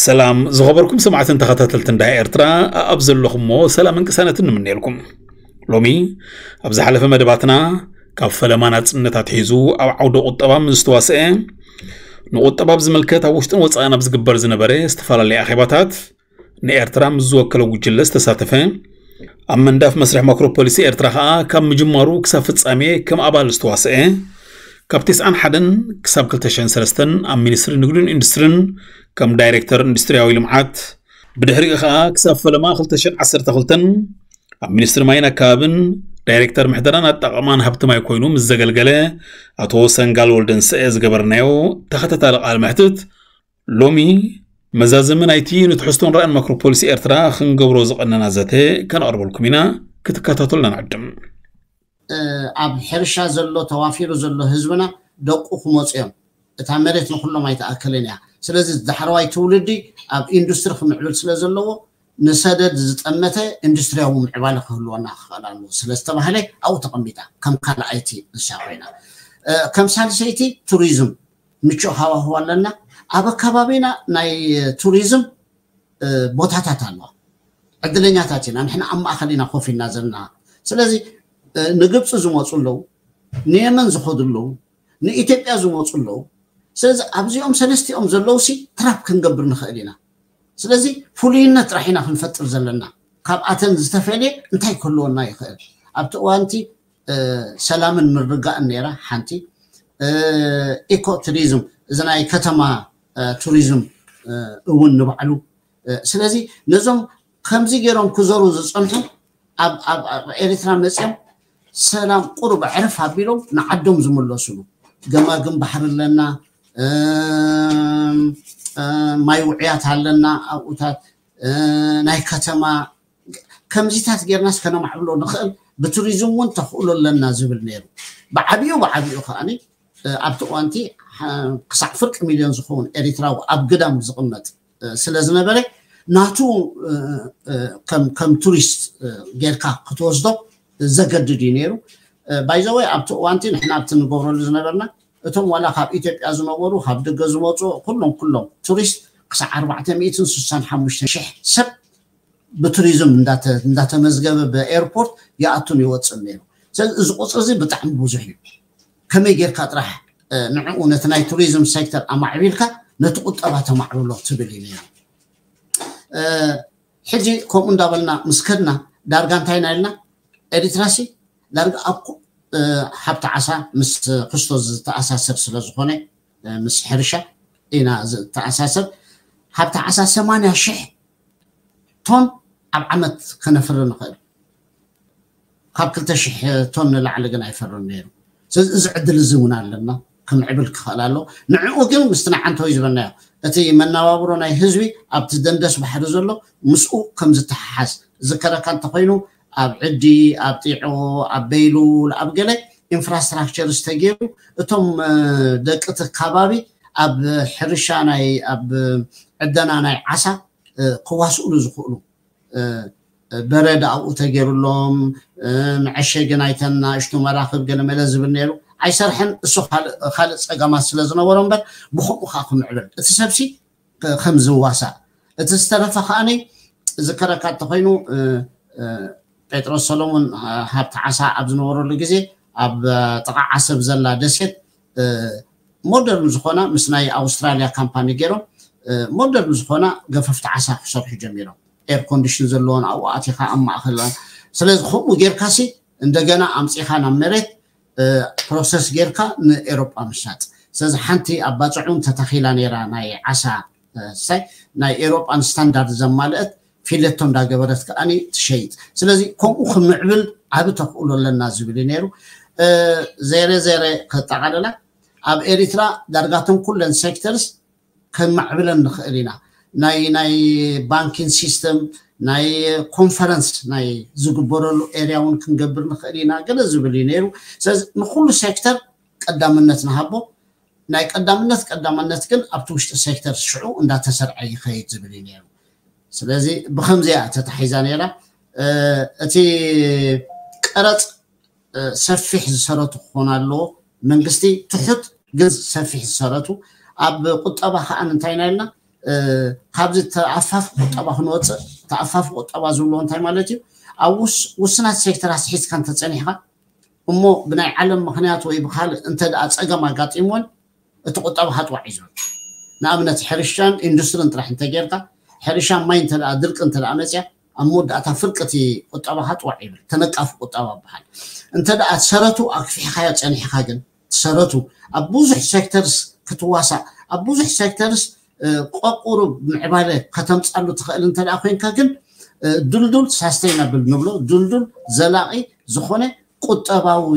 ሰላም ዝኸበርኩም ሰማዕትን ተኸታተልትን ዳህ ኤርትራ፣ ኣብ ዘለኹሞ ሰላምን ቅሳነትን ንምነየልኩም። ሎሚ ኣብ ዝሓለፈ መደባትና ካብ ፈለማ ናጽነት ኣትሒዙ ኣብ ዓውደ ቁጠባ ምስ ዝተዋስአ፣ ንቁጠባ ብዝምልከት ኣብ ውሽጥን ወጻእን ኣብ ዝግበር ዝነበረ ዝተፈላለየ ኣኼባታት ንኤርትራ ምስ ዝወከለ ጉጅለ ዝተሳተፈ፣ ኣብ ምንዳፍ መስርሕ ማክሮ ፖሊሲ ኤርትራ ከኣ ካብ ምጅማሩ ክሳብ ፍጻሜ ከም ኣባል ዝተዋስአ፣ ካብ ተስዓን ሓደን ክሳብ ክልተ ሽሕን ሰለስተን ኣብ ሚኒስትሪ ንግድን ኢንዱስትሪን ከም ዳይሬክተር ኢንዱስትሪያዊ ልምዓት፣ ብድሕሪኡ ከኣ ክሳብ ፈለማ ክልተ ሽሕን ዓሰርተ ክልተን ኣብ ሚኒስትሪ ማይን ኣከባብን ዳይሬክተር ምሕደራን ኣጠቓቕማን ሃብቲ ማይ ኮይኑ ምስ ዘገልገለ ኣቶ ሰንጋል ወልደንሰኤ ዝገበርናዮ ተኸታታሊ ቃለ መሕትት፣ ሎሚ መዛዘሚ ናይቲ ንትሕዝቶን ራእን ማክሮ ፖሊሲ ኤርትራ ክንገብሮ ዝቐነና ዘተ ከነቕርበልኩም ኢና። ክትከታተሉና ንዕድም። ኣብ ሕርሻ ዘሎ ተዋፊሩ ዘሎ ህዝብና ደቁ ክመፁ እዮም። እታ መሬት ንኩሎም ኣይተኣከልን እያ። ስለዚ ዳሕረዋይ ትውልዲ ኣብ ኢንዱስትሪ ክምዕብል ስለ ዘለዎ ንሰደድ ዝጠመተ ኢንዱስትሪያዊ ምዕባለ ክህልወና ክኽእል ኣለዎ ስለ ዝተባህለ ኣብኡ ተቐሚጣ ከም ካልኣይቲ ንሳ ኮይና። ከም ሳልሰይቲ ቱሪዝም ምቹእ ሃዋህው ኣለና። ኣብ ኣከባቢና ናይ ቱሪዝም ቦታታት ኣለዋ። ዕድለኛታት ኢና ንሕና ኣብ ማእኸል ኢና ኮፍ ኢልና ዘለና። ስለዚ ንግብፂ ዝመፁ ኣለዉ፣ ንየመን ዝኸዱ ኣለዉ፣ ንኢትዮጵያ ዝመፁ ኣለዉ። ስለዚ ኣብዚኦም ሰለስቲኦም ዘለዉ ሲ ትራፕ ክንገብር ንኽእል ኢና። ስለዚ ፍሉይነት ጥራሕ ኢና ክንፈጥር ዘለና። ካብኣተን ዝተፈልየ እንታይ ክህልወና ይኽእል? ኣብቲ እዋንቲ ሰላምን ምርግጋእን ነይራ ሓንቲ። ኢኮ ቱሪዝም፣ እዚ ናይ ከተማ ቱሪዝም እውን ንባዕሉ። ስለዚ ነዞም ከምዚ ገይሮም ክዘሩ ዝፀንሑ ኣብ ኤሪትራ መፅዮም ሰላም ቁሩብ ዕርፍ ኣቢሎም ንዓዶም ዝምለሱሉ፣ ገማግም ባሕሪ ኣለና፣ ማይ ውዕያት ኣለና ኣብኡታት፣ ናይ ከተማ ከምዚታት ጌርናስ ከነማዕብሎ ንኽእል፣ ብቱሪዝም እውን ተኽእሎ ኣለና ዝብል ነይሩ። ብዓብዩ ብዓብዩ ከኣ ኣብቲ እዋንቲ ክሳዕ ፍርቂ ሚልዮን ዝኸውን ኤሪትራዊ ኣብ ግዳም ዝቕመጥ ስለ ዝነበረ ናቱ ከም ቱሪስት ጌርካ ክትወስዶ ዘገድድ እዩ ነይሩ። ባይዘወይ ኣብቲ እዋንቲ ንሕና ኣብቲ ንገብረሉ ዝነበርና እቶም ዋላ ካብ ኢትዮጵያ ዝነበሩ ካብ ደገ ዝመፁ ኩሎም ኩሎም ቱሪስት ክሳዕ ኣርባዕተ ሚእትን ስሳን ሓሙሽተን ሽሕ ሰብ ብቱሪዝም እንዳተመዝገበ ብኤርፖርት ይኣቱን ይወፅን ነይሩ። ስለዚ እዚ ቁፅሪ እዚ ብጣዕሚ ብዙሕ እዩ። ከመይ ጌርካ ጥራሕ ንዕኡ ነቲ ናይ ቱሪዝም ሴክተር ኣማዕቢልካ ነቲ ቁጠባ ተማዕብሎ ትብል እዩ ነይሩ። ሕጂ ከምኡ እንዳበልና ምስ ከድና ዳርጋ እንታይ ኢና ኢልና? ኤሪትራሲ ዳርጋ ኣብ ሃብቲ ዓሳ ምስ ክስቶ ዝተኣሳሰር ስለ ዝኾነ ምስ ሕርሻ ኢና ዝተኣሳሰር። ሃብቲ ዓሳ ሰማንያ ሽሕ ቶን ኣብ ዓመት ከነፍሪ ንኽእል። ካብ ክልተ ሽሕ ቶን ንላዕሊ ግን ኣይፈርን ነይሩ። ስለዚ እዚ ዕድል እዚ እውን ኣለና፣ ክምዕብል ክኽእል ኣሎ። ንዕኡ ግን ምስቲ ናይ ዓንተወይ ዝበልናዮ እቲ መነባብሮ ናይ ህዝቢ ኣብቲ ደንደስ ባሕሪ ዘሎ ምስኡ ከም ዝተሓሓዝ ዝከረካ እንተኮይኑ ኣብ ዕዲ፣ ኣብ ጢዖ፣ ኣብ በይሉል፣ ኣብ ገለ ኢንፍራስትራክቸር ዝተገይሩ እቶም ደቂ እቲ ከባቢ ኣብ ሕርሻ ናይ ኣብ ዕደና ናይ ዓሳ ክዋስእሉ ዝኽእሉ በረድ ኣብኡ ተገይሩሎም መዐሸጊ ናይተን ናእሽቱ መራኽብ ገለመለ ዝብል ነይሩ። ኣይሰርሐን። እሱ ካልእ ጸገማት ስለ ዝነበሮ እምበር ብኸምኡ ከዓ ክምዕብል እቲ ሰብሲ ከም ዝዋሳእ እቲ ዝተረፈ ከዓኒ ዝከረካ እንተኮይኑ ጴጥሮስ ሰሎሞን ሃብቲ ዓሳ ኣብ ዝነበረሉ ግዜ ኣብ ጥቓ ዓሰብ ዘላ ደሴት ሞደርን ዝኾና ምስ ናይ ኣውስትራሊያ ካምፓኒ ገይሮም ሞደርን ዝኾና ገፈፍቲ ዓሳ ክሰርሑ ጀሚሮም። ኤር ኮንዲሽን ዘለዎን ኣብኡ ኣቲኻ ኣብ ማእኸል። ስለዚ ከምኡ ጌርካሲ እንደገና ኣምፂኻ ናብ መሬት ፕሮሰስ ጌርካ ንኤሮጳ ምሻጥ። ስለዚ ሓንቲ ኣብ ባፅዑን ተተኺላ ነይራ ናይ ዓሳ ሳይ ናይ ኤሮጳን ስታንዳርድ ዘማልአት ፊሌቶ እንዳገበረት ከዓኒ ትሸይጥ። ስለዚ ከምኡ ክምዕብል ዓቢ ተኽእሎ ኣለና ዝብል እዩ ነይሩ። ዜረ ዜረ ከጠቓልላ ኣብ ኤሪትራ ዳርጋቶም ኩለን ሴክተርስ ከማዕብለን ንኽእል ኢና። ናይ ናይ ባንኪን ሲስተም ናይ ኮንፈረንስ ናይ ዝግበረሉ ኤርያ እውን ክንገብር ንኽእል ኢና ገለ ዝብል እዩ ነይሩ። ስለዚ ንኩሉ ሴክተር ቀዳምነት ንሃቦ። ናይ ቀዳምነት ቀዳምነት ግን ኣብቲ ውሽጢ ሴክተር ሽዑ እንዳተሰርዐ ይኸይድ ዝብል እዩ ነይሩ። ስለዚ ብከምዚኣ ተታሒዛ ነይራ። እቲ ቀረፅ ሰፊሕ ዝሰረቱ ክኾን ኣለዎ። መንግስቲ ትሑት ግን ሰፊሕ ዝሰረቱ ኣብ ቁጠባ ከዓ እንታይ ኢና ኢልና ካብዚ ተኣፋፊ ቁጠባ ክንወፅእ፣ ተኣፋፊ ቁጠባ ዝብሎ እንታይ ማለት እዩ? ኣብ ውስናት ሴክተራት ሒዝካ እንተፀኒሕካ እሞ ብናይ ዓለም ምክንያት ወይ ብካልእ እንተ ደኣ ፀገም ኣጋጢምዎን እቲ ቁጠባኻ ጥዋዕ እዩ ዝብል። ንኣብነት ሕርሻን ኢንዱስትርን ጥራሕ እንተጌርካ፣ ሕርሻን ማይ እንተ ደኣ ድርቂ እንተ ደኣ መፅያ፣ ኣብ መወዳእታ ፍርቂ እቲ ቁጠባኻ ጥዋዕ ይብል። ተነቃፊ ቁጠባ ይበሃል። እንተ ደኣ ሰረቱ ኣክፊሕካዮ ፀኒሕካ ግን፣ ሰረቱ ኣብ ብዙሕ ሴክተርስ ክትዋሳእ፣ ኣብ ብዙሕ ሴክተርስ ቆቁሩ ምዕባለ ከተምፃሉ ትኽእል እንተ ደኣ ኮይንካ ግን፣ ድልዱል ሳስተይናብል ንብሎ፣ ድልዱል ዘላቒ ዝኾነ ቁጠባዊ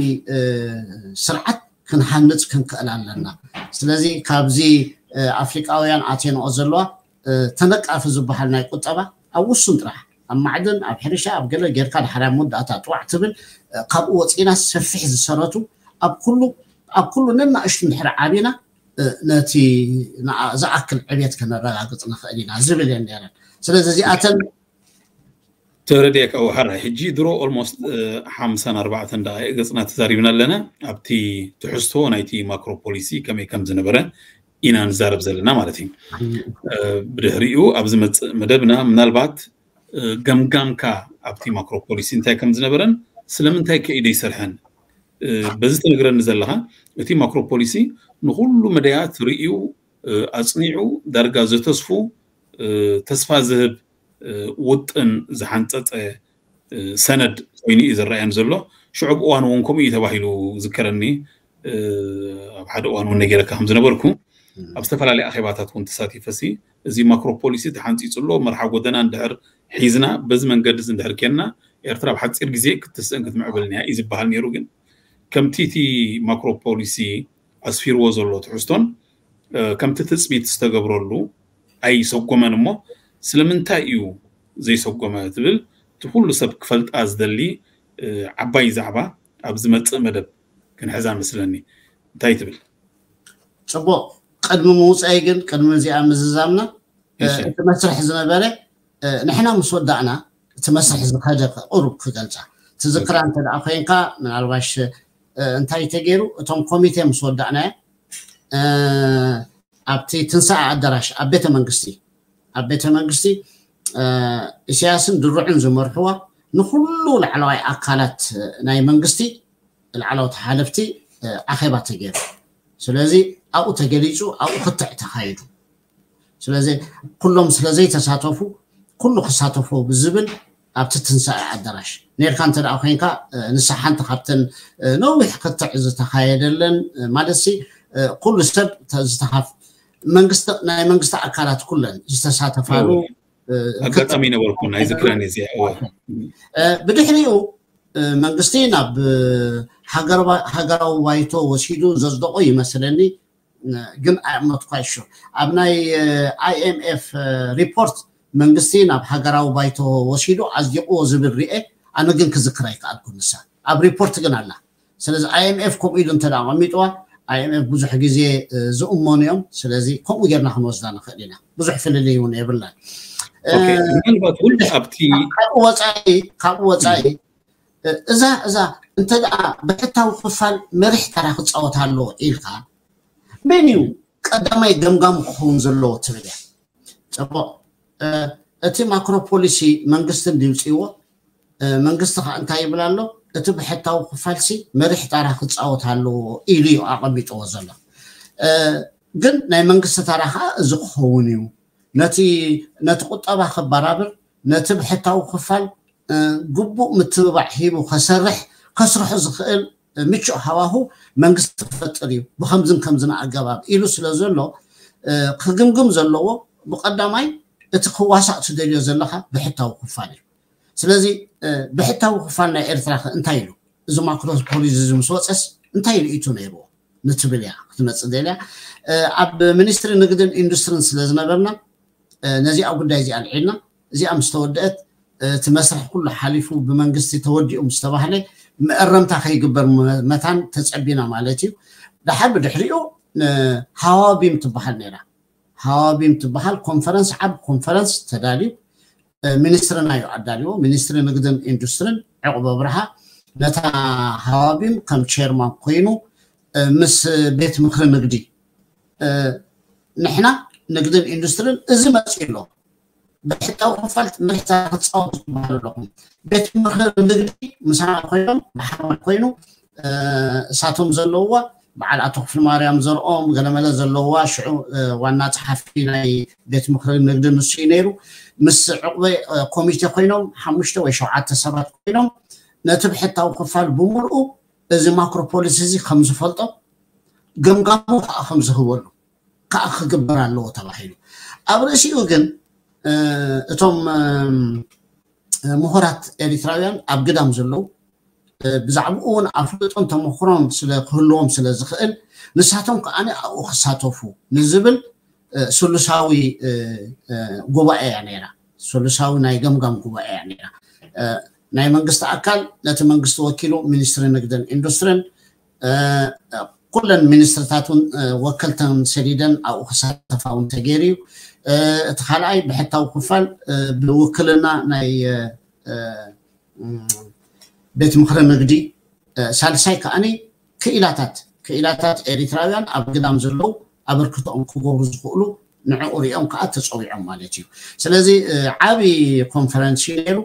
ስርዓት ክንሃንፅ ክንክእል ኣለና። ስለዚ ካብዚ ኣፍሪቃውያን ኣቴንኦ ዘለዋ ተነቃፊ ዝበሃል ናይ ቁጠባ ኣብ ውሱን ጥራሕ ኣብ ማዕድን፣ ኣብ ሕርሻ፣ ኣብ ገለ ጌርካ ድሓር ኣብ መወዳእታ ጥዋዕ ትብል። ካብኡ ወፂና ሰፊሕ ዝሰረቱ ኣብ ኩሉ ኣብ ኩሉ ነናእሽቱ እንድሕር ዓቢና ነቲ ዝኣክል ዕብየት ከነረጋግፅ ንኽእል ኢና ዝብል እየን ነረን። ስለዚ እዚኣተን ተረድኤካ። ሕራይ ሕጂ ድሮ ኦልሞስት ሓምሳን ኣርባዕተን ደቃይቅ ገፅና ተዛሪብና ኣለና። ኣብቲ ትሕዝቶ ናይቲ ማክሮ ፖሊሲ ከመይ ከም ዝነበረ ኢና ንዛረብ ዘለና ማለት እዩ። ብድሕሪኡ ኣብ ዝመፅእ መደብና ምናልባት ገምጋምካ ኣብቲ ማክሮ ፖሊሲ እንታይ ከም ዝነበረን ስለምንታይ ከ ደይሰርሐን በዚ ትነግረኒ ዘለኻ፣ እቲ ማክሮ ፖሊሲ ንኩሉ መዳያት ርእዩ ኣፅኒዑ ዳርጋ ዘተስፉ ተስፋ ዝህብ ውጥን ዝሓንፀፀ ሰነድ ኮይኑ እዩ ዝረኣየኒ ዘሎ። ሽዑ እዋን እውን ከምኡ እዩ ተባሂሉ ዝከረኒ። ኣብ ሓደ እዋን እውን ነጌረካ ከም ዝነበርኩ ኣብ ዝተፈላለዩ ኣኼባታት እውን ተሳቲፈሲ እዚ ማክሮ ፖሊሲ ተሓንፂፁ ኣሎ። መርሓ ጎደና እንድሕር ሒዝና በዚ መንገዲ እዚ እንድሕር ኬንና ኤርትራ ኣብ ሓፂር ግዜ ክትስእን ክትምዕብልን እያ እዩ ዝበሃል ነይሩ። ግን ከምቲ እቲ ማክሮ ፖሊሲ ኣስፊርዎ ዘሎ ትሕዝቶን ከምቲ ትፅቢት ዝተገብረሉ ኣይሰጎመን እሞ ስለምንታይ እዩ ዘይሰጎመ ትብል እቲ ኩሉ ሰብ ክፈልጣ ዝደሊ ዓባይ ዛዕባ ኣብ ዝመፅእ መደብ ክንሕዛ መስለኒ። እንታይ ትብል? ፅቡቅ። ቅድሚ ምውፃይ ግን ቅድሚ እዚኣ ምዝዛምና እቲ መስርሕ ዝነበረ ንሕና ምስ ወዳእና እቲ መስርሕ ዝኸደ ቁሩብ ክገልፃ ትዝክራ እንተ ደኣ ኮይንካ ምናልባሽ እንታይ ተገይሩ እቶም ኮሚቴ ምስ ወዳእናዮ ኣብቲ ትንሳኤ ኣዳራሽ ኣብ ቤተ መንግስቲ ኣብ ቤተ መንግስቲ ኢሳያስን ድሩዕን ዝመርሕዋ ንኩሉ ላዕለዋይ ኣካላት ናይ መንግስቲ ላዕለዎት ሓለፍቲ ኣኼባ ተገይሩ። ስለዚ ኣብኡ ተገሊፁ ኣብኡ ክትዕ ተኻይዱ። ስለዚ ኩሎም ስለዘይተሳተፉ ኩሉ ክሳተፎ ብዝብል ኣብቲ ትንሳኤ ኣዳራሽ ነርካ እንተ ደኣ ኮይንካ ንሳ ሓንቲ ካብተን ነዊሕ ክትዕ ዝተኻየደለን ማለት ሲ ኩሉ ሰብ ዝተኻፍ መንግስቲ ናይ መንግስቲ ኣካላት ኩለን ዝተሳተፋሉ ኣጋጣሚ ነበርኩ ናይ ዝክረን እዚ ብድሕሪኡ መንግስቲ ናብ ሃገራዊ ባይቶ ወሲዱ ዘጽደቆ ይመስለኒ። ግን ኣመትኳ ይሹ ኣብ ናይ ኣይኤምኤፍ ሪፖርት መንግስቲ ናብ ሃገራዊ ባይቶ ወሲዱ ኣጽዲቕዎ ዝብል ርኤ። ኣነ ግን ክዝክር ኣይከኣልኩ ንሳ ኣብ ሪፖርት ግን ኣላ። ስለዚ ኣይኤምኤፍ ከምኡ ኢሉ እንተ ኣቐሚጥዋ ኣይኤምኤፍ ብዙሕ ግዜ ዝእመኑ እዮም። ስለዚ ከምኡ ጌርና ክንወስዳ ንኽእል ኢና። ብዙሕ ፍልልይ እውን የብላን። ምናልባት እውን ኣብቲ ካብኡ ወፃኢ እዛ እዛ እንተ ደኣ ብሕታዊ ክፋል መሪሕ ተራ ክፃወት ኣለዎ ኢልካ መን እዩ ቀዳማይ ገምጋም ክኸውን ዘለዎ ትብል እያ። ፅቡቅ። እቲ ማክሮ ፖሊሲ መንግስቲ እንዲውፅእዎ መንግስቲ ከዓ እንታይ ይብል ኣሎ? እቲ ብሕታዊ ክፋልሲ መሪሕ ታራ ክፃወት ኣለዎ ኢሉ እዩ ኣቐሚጥዎ ዘሎ። ግን ናይ መንግስቲ ታራ ከዓ እዚ ክኸውን እዩ። ነቲ ነቲ ቁጠባ ክበራብር ነቲ ብሕታዊ ክፋል ግቡእ ምትብባዕ ሂቡ ከሰርሕ ከስርሑ ዝኽእል ምቹእ ሃዋሁ መንግስቲ ክፈጥር እዩ ብከምዝን ከምዝን ኣገባብ ኢሉ ስለ ዘሎ ክግምግም ዘለዎ ብቀዳማይ እቲ ክዋሳእ ትደልዮ ዘለካ ብሕታዊ ክፋል እዩ። ስለዚ ብሕታዊ ክፋል ናይ ኤርትራ ከ እንታይ ኢሉ? እዚ ማክሮ ፖሊሲ እዚ ምስ ወፀስ እንታይ ርእይቶ ነይርዎ ንትብል እያ ክትመፅእ ደልያ። ኣብ ሚኒስትሪ ንግድን ኢንዱስትሪን ስለ ዝነበርና ነዚኣ ጉዳይ እዚኣ ኣልዒልና እዚኣ ምስ ተወደአት እቲ መስርሕ ኩሉ ሓሊፉ ብመንግስቲ ተወዲኡ ምስ ተባህለ መእረምታ ከይግበር መታን ተፀቢና ማለት እዩ። ደሓር ብድሕሪኡ ሃዋቢም ትበሃል ነይራ። ሃዋቢም ትበሃል ኮንፈረንስ ዓብ ኮንፈረንስ ተዳልዩ ሚኒስትርና እዩ ኣዳልዎ። ሚኒስትሪ ንግድን ኢንዱስትሪን ዕቑብ ኣብርሃ ነታ ሃዋቢም ከም ቸርማን ኮይኑ ምስ ቤት ምክሪ ንግዲ ንሕና ንግድን ኢንዱስትሪን እዚ መፅኡ ኣሎ። ብሕታዊ ክፋል መሪሕታ ክፃወቱ ዝበሃሉ ኣለኹም። ቤት ምኽሪ ንግዲ ምሳና ኮይኖም ብሓባር ኮይኑ እሳቶም ዘለውዋ በዓል ኣቶ ክፍሊ ማርያም ዘርኦም ገለመለ ዘለውዋ ሽዑ ዋና ፀሓፊ ናይ ቤት ምኽሪ ንግዲ ንሱ እዩ ነይሩ። ምስ ዕቁበ ኮሚቴ ኮይኖም ሓሙሽተ ወይ ሸውዓተ ሰባት ኮይኖም ነቲ ብሕታዊ ክፋል ብምልኡ እዚ ማክሮ ፖሊሲ እዚ ከም ዝፈልጦ ገምጋሙ ከዓ ከም ዝህበሉ ከዓ ክግበር ኣለዎ ተባሂሉ። ኣብ ርእሲኡ ግን እቶም ምሁራት ኤሪትራውያን ኣብ ግዳም ዘለዉ ብዛዕባኡ እውን ኣፍልጦን ተመክሮን ስለ ክህልዎም ስለ ዝኽእል ንሳቶም ከዓ ኣብኡ ክሳተፉ ንዝብል ስሉሳዊ ጉባኤ እያ ነይራ። ስሉሳዊ ናይ ገምጋም ጉባኤ እያ ነይራ። ናይ መንግስቲ ኣካል ነቲ መንግስቲ ወኪሉ ሚኒስትሪ ንግድን ኢንዱስትሪን ኩለን ሚኒስትርታት እውን ወከልተን ሰዲደን ኣብኡ ክሳተፋ እውን ተገይሩ እዩ። እቲ ካልኣይ ብሕታዊ ክፋል ብውክልና ናይ ቤት ምኽሪ ንግዲ፣ ሳልሳይ ከዓኒ ክኢላታት ክኢላታት ኤሪትራውያን ኣብ ግዳም ዘለዉ ኣበርክቶኦም ክገብሩ ዝኽእሉ ንዕኡ ሪኦም ከዓ ተፀዊዖም ማለት እዩ። ስለዚ ዓብዪ ኮንፈረንስ እዩ ነይሩ።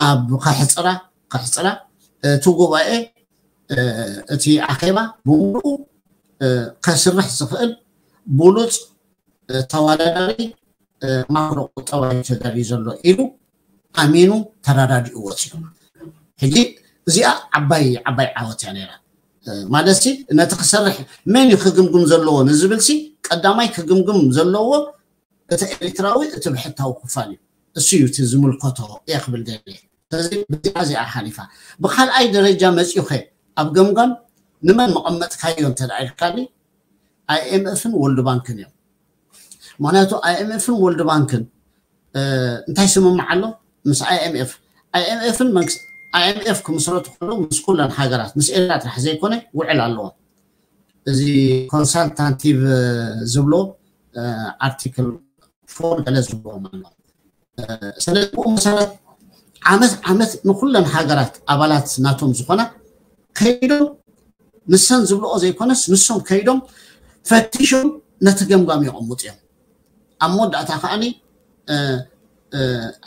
ኣብ ከሕፅራ ከሕፅራ እቲ ጉባኤ እቲ ኣኼባ ብምሉኡ ከስርሕ ዝኽእል ብሉፅ ተወዳዳሪ ማክሮ ቁጠባ እዩ ተዳልዩ ዘሎ ኢሉ ኣሚኑ ተረዳዲኡ ወፂኡ። ሕጂ እዚኣ ዓባይ ዓባይ ዓወት እያ ነይራ። ማለት ሲ ነቲ ክሰርሕ መን እዩ ክግምግም ዘለዎ ንዝብል ሲ ቀዳማይ ክግምግም ዘለዎ እቲ ኤሪትራዊ እቲ ብሕታዊ ክፋል እዩ። እሱ እዩ እቲ ዝምልከቶ እየ ክብል ደልየ። ስለዚ ብዚኣ እዚኣ ሓሊፋ ብካልኣይ ደረጃ መፂኡኸ ኣብ ገምጋም ንመን መቐመጥካዮ እንተ ኢልካኒ ኣይኤምኤፍን ወልድ ባንክን እዮም። ምክንያቱ ኣይኤምኤፍን ወልድ ባንክን እንታይ ስምምዕ ኣሎ ምስ ኣይኤምኤፍ? ኣይኤምኤፍን መንግስቲ ኣይኤምኤፍ ክምስረቱ ከለዉ ምስ ኩለን ሃገራት ምስ ኤርትራ ጥራሕ ዘይኮነ ውዕል ኣለዎም። እዚ ኮንሳልታንቲቭ ዝብሎ ኣርቲክል ፎር ገለ ዝብልዎም ኣሎ። ስለዚ ብኡ መሰረት ዓመት ዓመት ንኩለን ሃገራት ኣባላት ናቶም ዝኾና ከይዶም ንሰን ዝብልኦ ዘይኮነስ ንሶም ከይዶም ፈቲሾም ነቲ ገምጋም የቐምጡ እዮም። ኣብ መወዳእታ ከዓኒ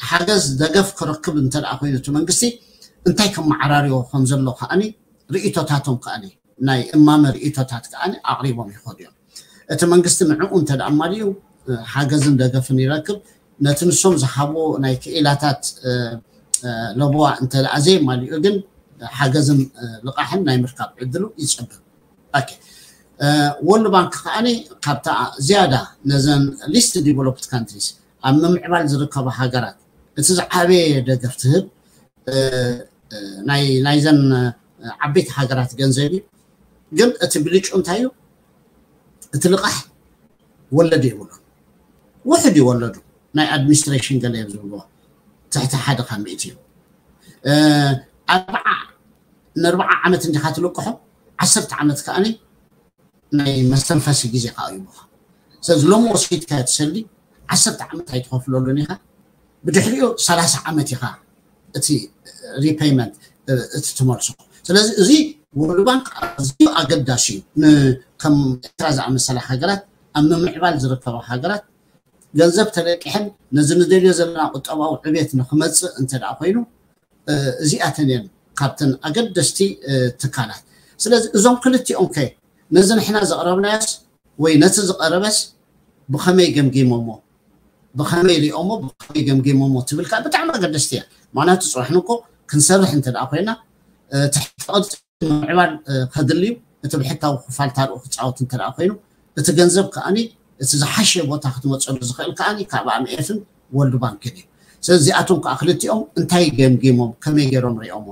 ሓገዝ ደገፍ ክረክብ እንተ ደኣ ኮይኑ እቲ መንግስቲ እንታይ ከመዓራርዮ ከም ዘሎ ከዓኒ ርእይቶታቶም ከዓኒ ናይ እማመ ርእይቶታት ከዓኒ ኣቕሪቦም ይኸዱ እዮም። እቲ መንግስቲ ንዕኡ እንተ ደኣ ኣማሊኡ ሓገዝን ደገፍን ይረክብ። ነቲ ንሶም ዝሃብዎ ናይ ክኢላታት ለበዋ እንተ ደኣ ዘየማሊኡ ግን ሓገዝን ልቓሕን ናይ ምርካብ ዕድሉ ይፀብብ። ወርልድ ባንክ ከዓኒ ካብታ ዝያዳ ነዘን ሊስት ዲቨሎፕድ ካንትሪስ ኣብ ምምዕባል ዝርከባ ሃገራት እቲ ዝዓበየ ደገፍ ትህብ ናይዘን ዓበይቲ ሃገራት ገንዘብ እዩ። ግን እቲ ብልጩ እንታይ እዩ? እቲ ልቓሕ ወለድ የብሉን። ውሕድ እዩ ወለዱ። ናይ ኣድሚኒስትሬሽን ገለ እዮም ዝብልዎ ትሕቲ ሓደ ካብ ሚእቲ እዩ። ኣርባዓ ንኣርባዓ ዓመት እንዲኻ ትልቅሖ ዓሰርተ ዓመት ከዓኒ ናይ መስተንፈሲ ግዜ ከዓ ይብኻ። ስለዚ ሎሚ ወሲድካ ትሰሊ ዓሰርተ ዓመት ኣይትኸፍለሉን ኢኻ። ብድሕሪኡ ሰላሳ ዓመት ኢኻ እቲ ሪፔይመንት እቲ ትመልሶ። ስለዚ እዚ ወርልድ ባንክ ኣዝዩ ኣገዳሲ እዩ። ከም ኤርትራ ዝኣመሰላ ሃገራት ኣብ ምምዕባል ዝርከባ ሃገራት ገንዘብ ተለቂሐን ነዚ ንደልዮ ዘለና ቁጠባዊ ዕቤት ንክመፅእ እንተ ደኣ ኮይኑ እዚኣተን እየን ካብተን ኣገደስቲ ትካላት። ስለዚ እዞም ክልቲኦም ከ ነዚ ንሕና ዘቕረብናዮስ ወይ ነቲ ዝቐረበስ ብኸመይ ገምጊሞሞ ብኸመይ ሪኦሞ ብኸመይ ገምጊሞሞ ትብል ከዓ ብጣዕሚ ኣገደስቲ እያ። ምክንያቱ ፅባሕ ንኮ ክንሰርሕ እንተ ደኣ ኮይና ትሕቲ ቅርፂ ምምዕባል ከድልዩ እቲ ብሕታዊ ክፋል ታርኡ ክፃወት እንተ ደኣ ኮይኑ እቲ ገንዘብ ከዓኒ እቲ ዝሓሸ ቦታ ክትመፀሉ ዝኽእል ከዓኒ ካብ ኣምኤፍን ወርልድ ባንክን እዩ። ስለዚ እዚኣቶም ከዓ ክልቲኦም እንታይ ገምጊሞም ከመይ ገይሮም ሪኦሞ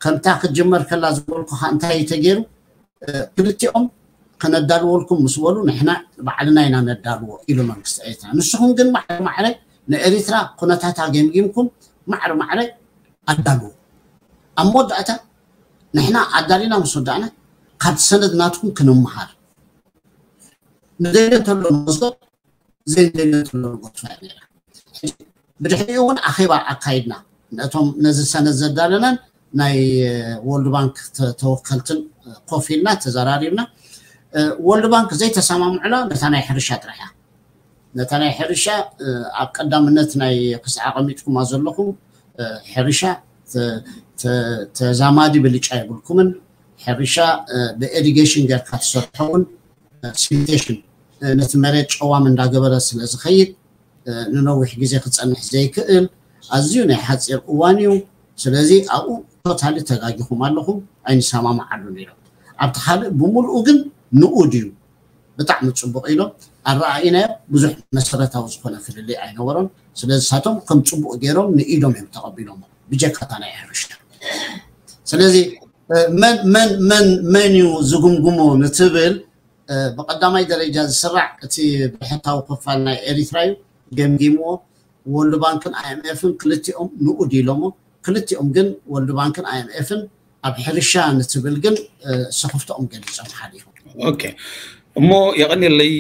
ከምታ ክትጅመር ከላ ዝበልኩኻ እንታይ እዩ ተገይሩ ክልቲኦም ከነዳልወልኩም ምስ በሉ ንሕና ባዕልና ኢና ነዳልዎ ኢሉ መንግስቲ ኤርትራ። ንስኹም ግን ማዕረ ማዕረ ንኤሪትራ ኩነታታ ገምጊምኩም ማዕረ ማዕረ ኣዳልዎ። ኣብ መወዳእታ ንሕና ኣዳሊና ምስ ወዳእና ካብቲ ሰነድ ናትኩም ክንምሃር ንደልዮ እንተሎ ንወስዶ ዘይንደልዮ እንተሎ ንጎትፋ ነይራ። ብድሕሪኡ እውን ኣኼባ ኣካይድና ነቶም ነዚ ሰነድ ዘዳለናን ናይ ወርልድ ባንክ ተወከልትን ኮፍ ኢልና ተዘራሪብና። ወርልድ ባንክ ዘይተሰማምዕላ ነታ ናይ ሕርሻ ጥራሕ እያ። ነታ ናይ ሕርሻ ኣብ ቀዳምነት ናይ ክሳዕ ኣቐሚጥኩማ ዘለኹም ሕርሻ ተዛማዲ ብልጫ የብልኩምን። ሕርሻ ብኢሪጌሽን ጌርካ ትሰርሖ እውን ሲልቴሽን ነቲ መሬት ጨዋም እንዳገበረ ስለ ዝኸይድ ንነዊሕ ግዜ ክፀንሕ ዘይክእል ኣዝዩ ናይ ሓፂር እዋን እዩ። ስለዚ ኣብኡ ቶታሊ ተጋጊኹም ኣለኹም፣ ኣይንሰማማዓሉን ኢሎም። ኣብቲ ካልእ ብምሉኡ ግን ንኡድ እዩ፣ ብጣዕሚ ፅቡቕ ኢሎም ኣረኣኢናዮ። ብዙሕ መሰረታዊ ዝኾነ ፍልልይ ኣይነበሮን። ስለዚ ሳቶም ከም ፅቡቕ ገይሮም ንኢዶም እዮም ተቐቢሎም ብጀካታ ናይ ሕርሻ። ስለዚ መን መን መን መን እዩ ዝግምግሞ ንትብል ብቀዳማይ ደረጃ ዝስራዕ እቲ ብሕታዊ ክፋል ናይ ኤሪትራ እዩ ገምጊምዎ። ወርልድ ባንክን ኣይኤምኤፍን ክልቲኦም ንኡድ ኢሎሞ። ክልቲኦም ግን ወርልድ ባንክን ኣይኤምኤፍን ኣብ ሕርሻ ንትብል ግን ስኽፍትኦም ገሊፆም ሓሊፎም። ኦኬ እሞ የቐንየለይ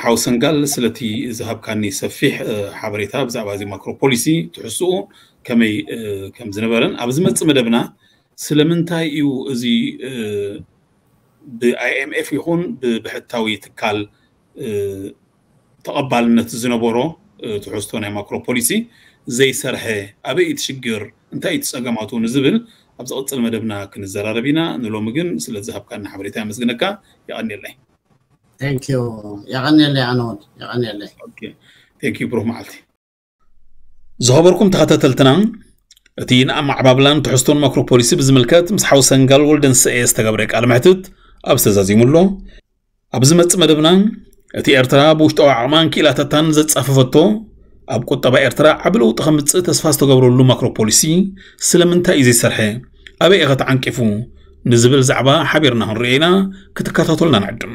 ሓው ሰንጋል ስለቲ ዝሃብካኒ ሰፊሕ ሓበሬታ ብዛዕባ እዚ ማክሮ ፖሊሲ ትሕስኡ ከመይ ከም ዝነበረን ኣብ ዝመፅእ መደብና ስለምንታይ እዩ እዚ ብ IMF ይኹን ብብሕታዊ ትካል ተቐባልነት ዝነበሮ ትሕዝቶ ናይ ማክሮ ፖሊሲ ዘይሰርሐ ኣበይ እቲ ሽግር እንታይ እቲ ፀገማቱ ንዝብል ኣብ ዝቕፅል መደብና ክንዘራረብ ኢና። ንሎሚ ግን ስለ ዝሃብካና ሓበሬታ የመስግነካ። የቐንየለይ። የቐንየለይ ኣነወድ የቐንየለይ። ብሩክ መዓልቲ። ዝኸበርኩም ተኸታተልትና እቲ ንኣመዓባብላን ትሕዝቶን ማክሮ ፖሊሲ ብዝምልከት ምስ ሓው ሰንጋል ወልደንስኤ ዝተገብረ ቃለ መሕትት ኣብ ዝተዛዚሙ ኣሎ። ኣብ ዝመፅእ መደብና እቲ ኤርትራ ብውሽጣዊ ዓቕማን ክኢላታታን ዘጻፈፈቶ ኣብ ቁጠባ ኤርትራ ዓቢ ለውጢ ከምፅእ ተስፋ ዝተገብረሉ ማክሮ ፖሊሲ ስለምንታይ እዩ ዘይሰርሐ ኣበይ ኢኸ ተዓንቂፉ ንዝብል ዛዕባ ሓቢርና ክንሪኦ ኢና። ክትከታተሉና ንዕድም።